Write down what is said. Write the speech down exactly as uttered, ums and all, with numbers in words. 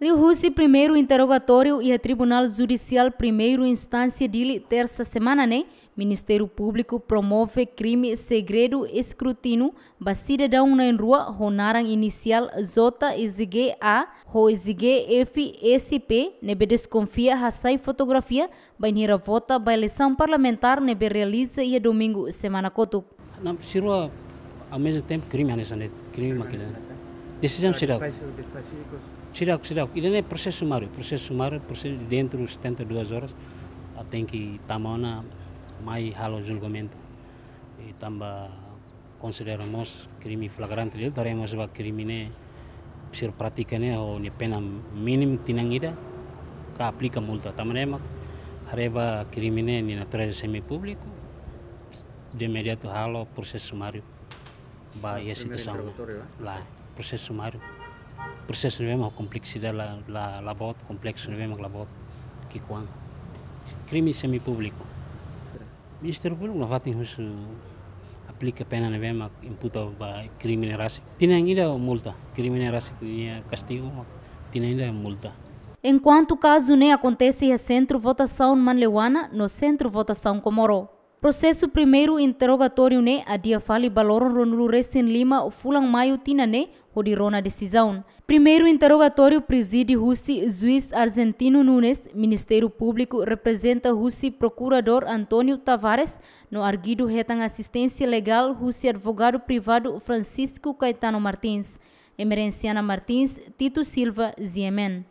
Liuhusi primeiru interrogatóriu iha Tribunál Judisiál Primeira Instánsia Dili, tersa semana ne'e, Ministériu Públiku promove krime segredu eskrutinu ba sidadaun na'in-rua ho naran inisiál J S G A ho S G F S P ne'ebé deskonfia hasai fotografia bainhira vota ba eleisaun parlamentár ne'ebé realiza iha domingu semana kotuk. Não, sirva ao mesmo tempo crime hanesan ne'e, crime mak ida. Desizaun seidauk. Seidauk, seidauk. Ida-ne'e prosesu sumáriu, prosesu sumáriu, prosesu dentro setenta e duas horas, ah, tenke tama ona mai halo julgamentu. I tanba konsidera mós krime flagrante, liu, haree mós ba krime ne'e, sira pratika ne'e ho nia pena mínimu tinan ida, ka aplika multa. Tanba ne'e mak haree ba krime ne'e nia natureza semipúbliku, de imediatu halo prosesu sumáriu ba iha situasaun ne'e. Lae, prosesu sumáriu. Prosesu ne'e mak kompleksidade la, la, la boot, kompleksu ne'e mak la boot, ki'ikoan. Krime semipúbliku. Ministériu Públiku nafatin husu aplika pena ne'ebé mak imputa ba krime ne'e rasik. Tinan ida multa, krime ne'e rasik nia kastigu mak tinan ida multa. Enkuantu kazu ne'e akontese iha sentru votasaun Manleuana no sentru votasaun Comoro. Prosesu primeiru interrogatóriu ne'e adia fali ba loron ruanulu-resin-lima fulan Maiu tinan ne'e, hodi rona desizaun. Primeiru interrogatóriu prezide husi juís Argentino Nunes, Ministériu Públiku reprezenta husi Prokuradór António Tavares, no arguidu hetan asisténsia legál husi advogadu privadu Francisco Caetano Martins. Emerenciana Martins, Tito Silva, G M N.